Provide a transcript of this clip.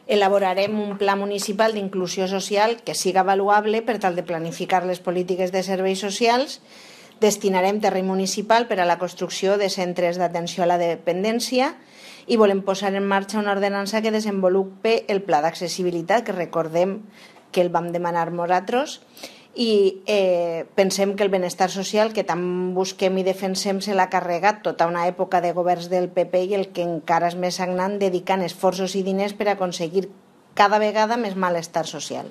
Elaborarem un pla municipal d'inclusió social que siga avaluable per tal de planificar les polítiques de serveis socials. Destinarem terreny municipal per a la construcció de centres d'atenció a la dependència i volem posar en marxa una ordenança que desenvolupe el pla d'accessibilitat, que recordem que el vam demanar nosaltres, i pensem que el benestar social que tant busquem i defensem se l'ha carregat tota una època de governs del PP i el que encara és més sagnant, dedicant esforços i diners per aconseguir cada vegada més malestar social.